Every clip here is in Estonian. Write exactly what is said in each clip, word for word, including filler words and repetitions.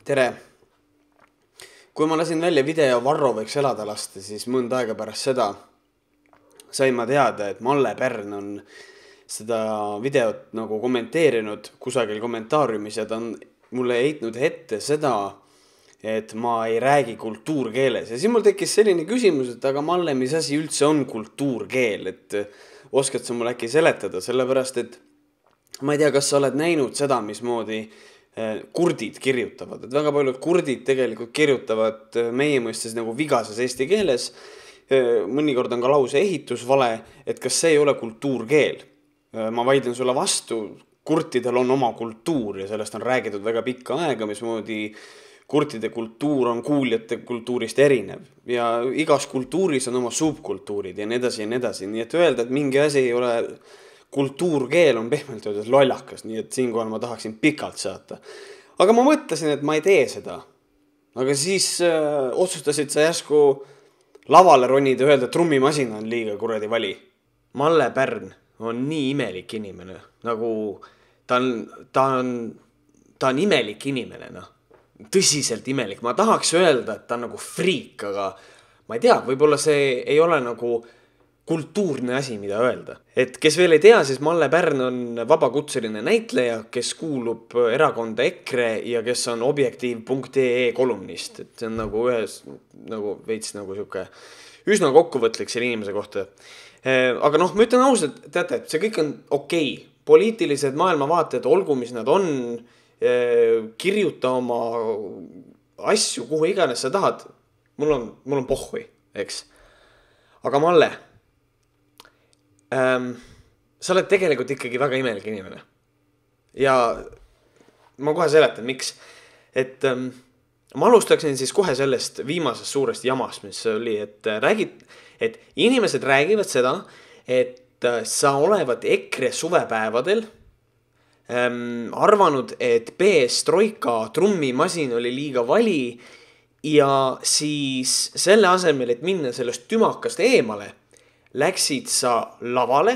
Tere! Kui ma lasin välja video Varro võiks elada lasta, siis mõnda aega pärast seda sain ma teada, et Malle Pärn on seda videot nagu kommenteerinud kusagil kommentaariumis ja ta on mulle heitnud ette seda, et ma ei räägi kultuurkeeles. Ja siis mul tekkis selline küsimus, et aga Malle, mis asi üldse on kultuurkeel, et oskad sa mulle äkki seletada, sellepärast et ma ei tea, kas sa oled näinud seda, mismoodi kurdid kirjutavad, et väga paljud kurdid tegelikult kirjutavad meie mõistes nagu vigases eesti keeles, mõnikord on ka lause ehitus vale, et kas see ei ole kultuurkeel. Ma vaidlen sulle vastu, kurtidel on oma kultuur ja sellest on räägitud väga pikka aega, mismoodi kurtide kultuur on kuuljate kultuurist erinev ja igas kultuuris on oma subkultuurid ja nii edasi ja nii edasi, nii et öelda, et mingi asi ei ole kultuurkeel on pehmelt öeldes lollakas, nii et siinkohal ma tahaksin pikalt saata. Aga ma mõtlesin, et ma ei tee seda. Aga siis äh, otsustasid sa järsku lavale ronida ja öelda, et trummimasina on liiga kuradi vali. Malle Pärn on nii imelik inimene, nagu ta on, ta on, ta on imelik inimene, noh. Tõsiselt imelik. Ma tahaks öelda, et ta on nagu friik, aga ma ei tea, võib-olla see ei ole nagu kultuurne asi, mida öelda. Et kes veel ei tea, siis Malle Pärn on vabakutseline näitleja, kes kuulub erakonda EKRE ja kes on objektiiv punkt ee kolumnist. Et see on nagu ühes, nagu veits nagu siuke üsna kokkuvõtlik selle inimese kohta. Aga noh, ma ütlen ausalt, teate, et see kõik on okei. Poliitilised maailmavaated, olgu mis nad on, kirjuta oma asju, kuhu iganes sa tahad. Mul on, mul on pohhui, eks. Aga Malle, Ähm, sa oled tegelikult ikkagi väga imelik inimene. Ja ma kohe seletan, miks. Et ähm, ma alustaksin siis kohe sellest viimasest suurest jamast, mis oli, et, räägid, et inimesed räägivad seda, et sa olevat EKRE suvepäevadel ähm, arvanud, et B S Troika trummimasin oli liiga vali ja siis selle asemel, et minna sellest tümakast eemale, läksid sa lavale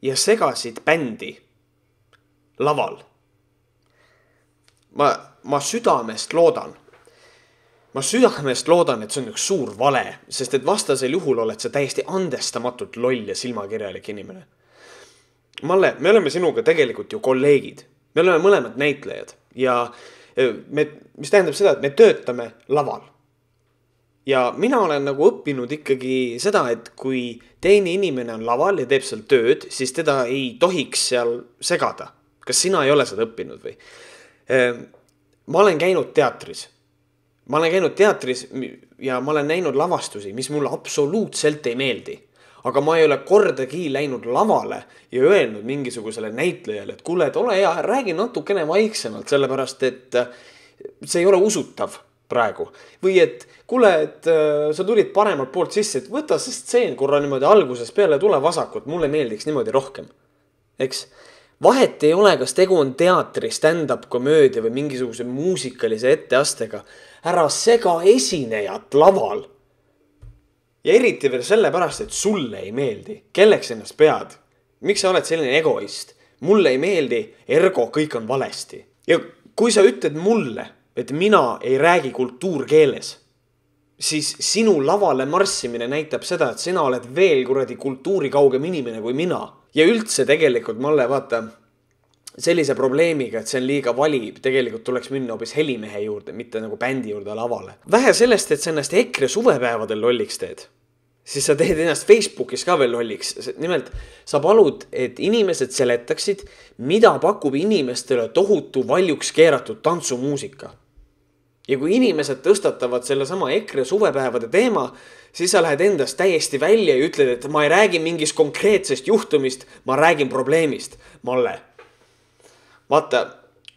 ja segasid bändi laval. Ma, ma südamest loodan. Ma südamest loodan, et see on üks suur vale, sest et vastasel juhul oled sa täiesti andestamatult loll ja silmakirjalik inimene. Malle, me oleme sinuga tegelikult ju kolleegid. Me oleme mõlemad näitlejad ja me, mis tähendab seda, et me töötame laval. Ja mina olen nagu õppinud ikkagi seda, et kui teine inimene on laval ja teeb seal tööd, siis teda ei tohiks seal segada. Kas sina ei ole seda õppinud või? Ma olen käinud teatris. Ma olen käinud teatris ja ma olen näinud lavastusi, mis mulle absoluutselt ei meeldi. Aga ma ei ole kordagi läinud lavale ja öelnud mingisugusele näitlejale, et kuule, et ole hea, räägi natukene vaiksemalt, sellepärast et see ei ole usutav praegu. Või et kuule, et äh, sa tulid paremalt poolt sisse, et võta see stseen korra niimoodi alguses peale tule vasakut, mulle meeldiks niimoodi rohkem. Eks? Vahet ei ole, kas tegu on teatri, stand-up komöödia või mingisuguse muusikalise etteastega. Ära sega esinejat laval. Ja eriti veel sellepärast, et sulle ei meeldi. Kelleks ennast pead? Miks sa oled selline egoist? Mulle ei meeldi, ergo kõik on valesti. Ja kui sa ütled mulle, et mina ei räägi kultuurkeeles, siis sinu lavale marssimine näitab seda, et sina oled veel kuradi kultuurikaugem inimene kui mina. Ja üldse tegelikult Malle, vaata, sellise probleemiga, et see on liiga vali, tegelikult tuleks minna hoopis helimehe juurde, mitte nagu bändi juurde lavale. Vähe sellest, et sa ennast EKRE suvepäevadel lolliks teed, siis sa teed ennast Facebookis ka veel lolliks. Nimelt, sa palud, et inimesed seletaksid, mida pakub inimestele tohutu valjuks keeratud tantsumuusika. Ja kui inimesed tõstatavad selle sama EKRE suvepäevade teema, siis sa lähed endast täiesti välja ja ütled, et ma ei räägi mingist konkreetsest juhtumist, ma räägin probleemist. Malle, vaata,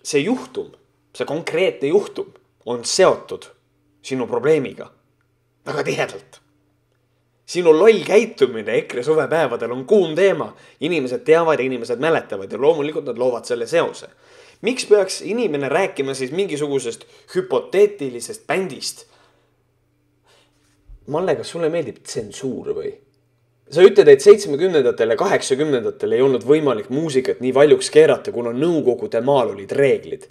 see juhtum, see konkreetne juhtum on seotud sinu probleemiga väga tihedalt. Sinu loll käitumine EKRE suvepäevadel on kuum teema. Inimesed teavad ja inimesed mäletavad ja loomulikult nad loovad selle seose. Miks peaks inimene rääkima siis mingisugusest hüpoteetilisest bändist? Malle, kas sulle meeldib tsensuur või? Sa ütled, et seitsmekümnendatel ja kaheksakümnendatel ei olnud võimalik muusikat nii valjuks keerata, kuna nõukogude maal olid reeglid.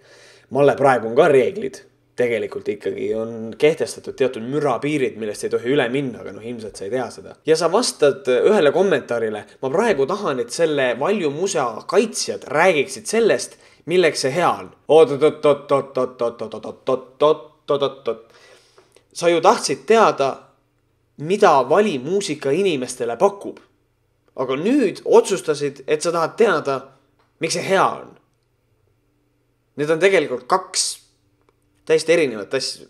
Malle, praegu on ka reeglid. tegelikult ikkagi on kehtestatud teatud mürapiirid, millest ei tohi üle minna, aga noh, ilmselt sa ei tea seda. Ja sa vastad ühele kommentaarile, ma praegu tahan, et selle Valju musea kaitsjad räägiksid sellest, milleks see hea on. Sa ju tahtsid teada, mida valimuusika inimestele pakub. Aga nüüd otsustasid, et sa tahad teada, miks see hea on. Need on tegelikult kaks täiesti erinevat asja.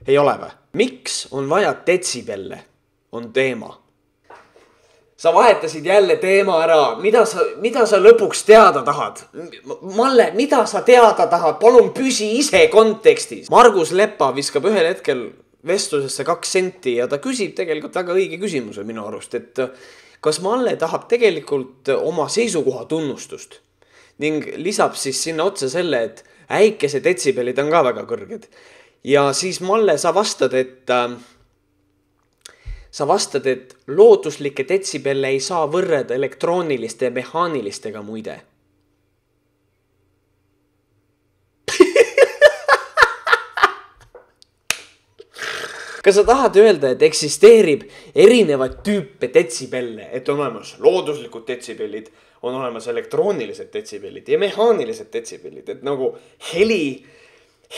Ei ole või? Miks on vaja detsibelle? On teema. Sa vahetasid jälle teema ära. Mida sa, mida sa lõpuks teada tahad? Malle, mida sa teada tahad? Palun püsi ise kontekstis. Margus Lepa viskab ühel hetkel vestlusesse kaks senti ja ta küsib tegelikult väga õige küsimuse minu arust, et kas Malle tahab tegelikult oma seisukoha tunnustust ning lisab siis sinna otsa selle, et äikese detsibelid on ka väga kõrged. Ja siis Malle, sa vastad, et äh, sa vastad, et looduslike detsibelle ei saa võrreda elektrooniliste ja mehaanilistega muide. Kas sa tahad öelda, et eksisteerib erinevad tüüpe detsibelle, et on olemas looduslikud detsibellid, on olemas elektroonilised detsibellid ja mehaanilised detsibellid, et nagu heli,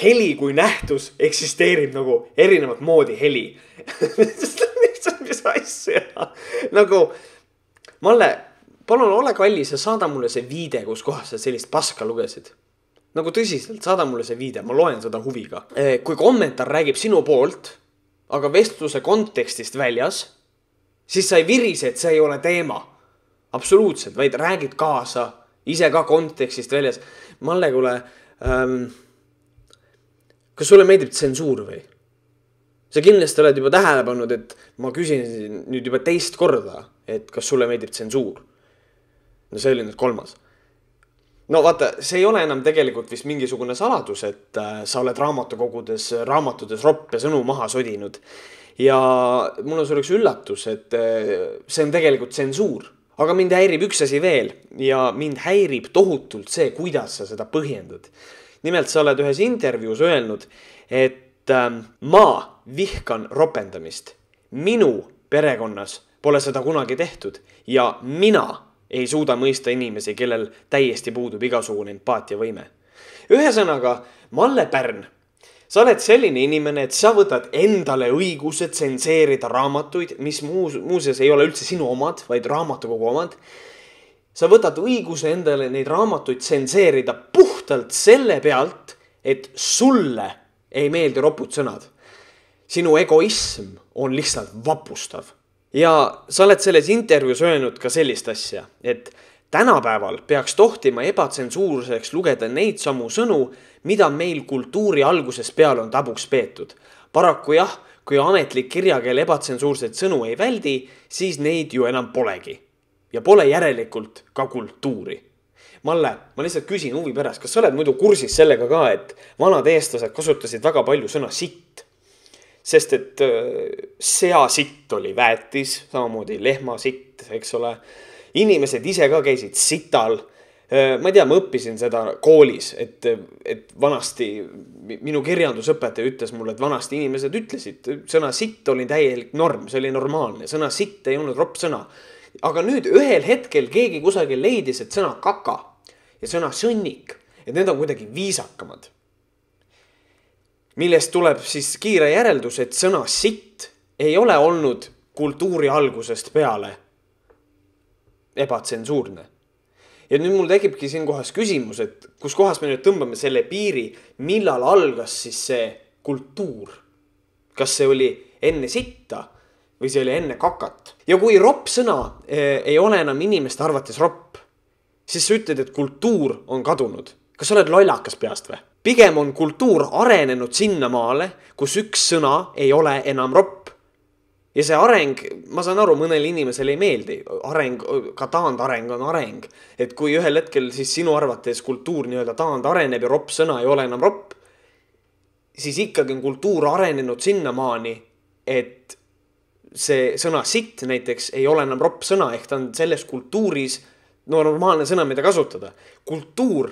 heli kui nähtus eksisteerib nagu erinevat moodi heli. Mis asja? Nagu, Malle, palun ole kallis ja saada mulle see viide, kus kohas sa sellist paska lugesid. Nagu tõsiselt, saada mulle see viide, ma loen seda huviga. Kui kommentaar räägib sinu poolt, aga vestluse kontekstist väljas, siis sa ei virise, et see ei ole teema. Absoluutselt, vaid räägid kaasa, ise ka kontekstist väljas. Malle, kuule, ähm, kas sulle meeldib tsensuur või? Sa kindlasti oled juba tähele pannud, et ma küsin nüüd juba teist korda, et kas sulle meeldib tsensuur. No see oli nüüd kolmas. No vaata, see ei ole enam tegelikult vist mingisugune saladus, et äh, sa oled raamatukogudes, raamatutes roppe sõnu maha sodinud. Ja mul on selleks üllatus, et äh, see on tegelikult tsensuur. Aga mind häirib üks asi veel ja mind häirib tohutult see, kuidas sa seda põhjendad. Nimelt sa oled ühes intervjuus öelnud, et äh, ma vihkan ropendamist. Minu perekonnas pole seda kunagi tehtud ja mina ei suuda mõista inimesi, kellel täiesti puudub igasugune empaatia võime. Ühesõnaga, Malle Pärn, sa oled selline inimene, et sa võtad endale õiguse tsenseerida raamatuid, mis muus, muuseas ei ole üldse sinu omad, vaid raamatukogu omad. Sa võtad õiguse endale neid raamatuid tsenseerida puhtalt selle pealt, et sulle ei meeldi ropud sõnad. Sinu egoism on lihtsalt vapustav. Ja sa oled selles intervjuus öelnud ka sellist asja, et tänapäeval peaks tohtima ebatsensuurseks lugeda neid samu sõnu, mida meil kultuuri alguses peal on tabuks peetud. Paraku jah, kui ametlik kirjakeel ebatsensuurseid sõnu ei väldi, siis neid ju enam polegi. Ja pole järelikult ka kultuuri. Malle, ma lihtsalt küsin huvi pärast, kas sa oled muidu kursis sellega ka, et vanad eestlased kasutasid väga palju sõna sitt? Sest et sea sitt oli väetis, samamoodi lehma sitt, eks ole. Inimesed ise ka käisid sital. Ma ei tea, ma õppisin seda koolis, et, et vanasti minu kirjandusõpetaja ütles mulle, et vanasti inimesed ütlesid, sõna sitt oli täielik norm, see oli normaalne. Sõna sitt ei olnud ropp sõna. Aga nüüd ühel hetkel keegi kusagil leidis, et sõna kaka ja sõna sõnnik, et need on kuidagi viisakamad. Millest tuleb siis kiire järeldus, et sõna sitt ei ole olnud kultuuri algusest peale ebatsensuurne. Ja nüüd mul tekibki siin kohas küsimus, et kus kohas me nüüd tõmbame selle piiri, millal algas siis see kultuur. Kas see oli enne sitta või see oli enne kakat. Ja kui ropp sõna ei ole enam inimeste arvates ropp, siis sa ütled, et kultuur on kadunud. Kas sa oled lollakas peast või? Pigem on kultuur arenenud sinna maale, kus üks sõna ei ole enam ropp. Ja see areng, ma saan aru, mõnele inimesele ei meeldi. Areng, ka taandareng on areng. Et kui ühel hetkel siis sinu arvates kultuur nii-öelda taand areneb ja ropp sõna ei ole enam ropp, siis ikkagi on kultuur arenenud sinna maani, et see sõna sitt näiteks ei ole enam ropp sõna, ehk ta on selles kultuuris normaalne sõna, mida kasutada. Kultuur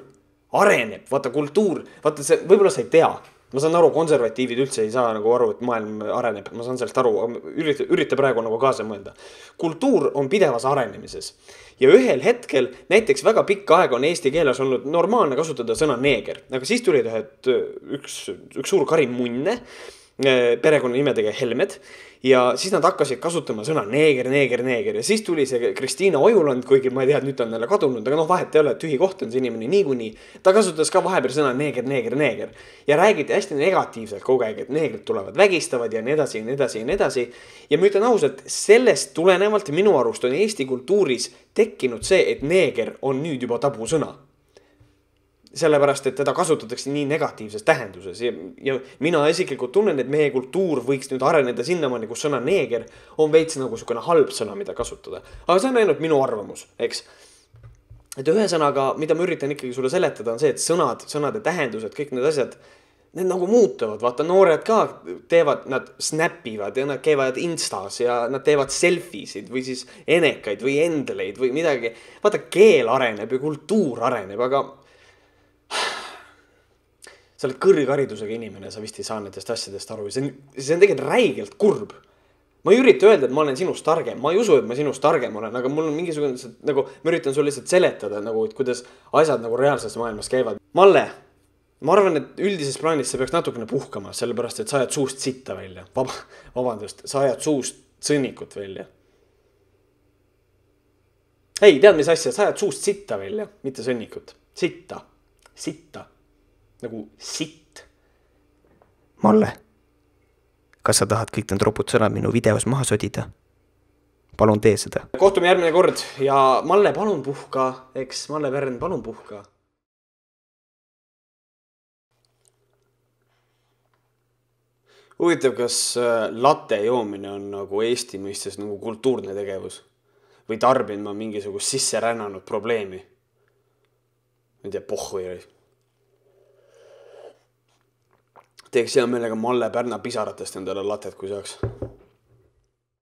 areneb, vaata kultuur, vaata see, võib-olla sa ei tea, ma saan aru, konservatiivid üldse ei saa nagu aru, et maailm areneb, ma saan sellest aru, ürita, ürita praegu nagu kaasa mõelda. Kultuur on pidevas arenemises ja ühel hetkel, näiteks väga pikka aega on eesti keeles olnud normaalne kasutada sõna neeger, aga siis tuli ühed, üks, üks suur Karin Munne, perekonna nimedega Helmed ja siis nad hakkasid kasutama sõna neeger, neeger, neeger ja siis tuli see Kristiina Ojuland, kuigi ma ei tea, et nüüd on neile kadunud, aga noh, vahet ei ole, tühi koht on see inimene niikuinii. Ta kasutas ka vahepeal sõna neeger, neeger, neeger ja räägiti hästi negatiivselt kogu aeg, et neegrid tulevad vägistavad ja nii edasi ja nii edasi ja nii edasi. Ja ma ütlen ausalt, sellest tulenevalt minu arust on Eesti kultuuris tekkinud see, et neeger on nüüd juba tabu sõna. Sellepärast, et teda kasutatakse nii negatiivses tähenduses ja, ja mina isiklikult tunnen, et meie kultuur võiks nüüd areneda sinnamaani, kus sõna neeger on veits nagu sukene halb sõna, mida kasutada. Aga see on ainult minu arvamus, eks. Et ühesõnaga, mida ma üritan ikkagi sulle seletada, on see, et sõnad, sõnade tähendused, kõik need asjad, need nagu muutuvad. Vaata, noored ka teevad, nad snapivad ja nad käivad Instas ja nad teevad selfisid või siis enekaid või endeleid või midagi. Vaata, keel areneb ja kultuur areneb, aga sa oled kõrgharidusega inimene, sa vist ei saa nendest asjadest aru. See on, see on tegelikult räigelt kurb. Ma ei ürita öelda, et ma olen sinust targem. Ma ei usu, et ma sinust targem olen, aga mul on mingisugune, nagu, ma üritan sulle lihtsalt seletada, nagu, et kuidas asjad nagu reaalses maailmas käivad. Malle, ma arvan, et üldises plaanis sa peaks natukene puhkama, sellepärast, et sa ajad suust sitta välja. Vaba, vabandust, sa ajad suust sõnnikut välja. Ei, tead mis asja, sa ajad suust sitta välja, mitte sõnnikut. Sitta, sitta. Nagu sitt. Malle, kas sa tahad kõik need ropud sõnad minu videos maha sodida? Palun tee seda. Kohtume järgmine kord ja Malle, palun puhka, eks Malle Vern, palun puhka. Huvitav, kas latte joomine on nagu Eesti mõistes nagu kultuurne tegevus või tarbin ma mingisugust sisse rännanud probleemi? Ma ei tea, pohhu ei ole. Teeks hea meelega Malle Pärna pisaratest endale latet, kui saaks.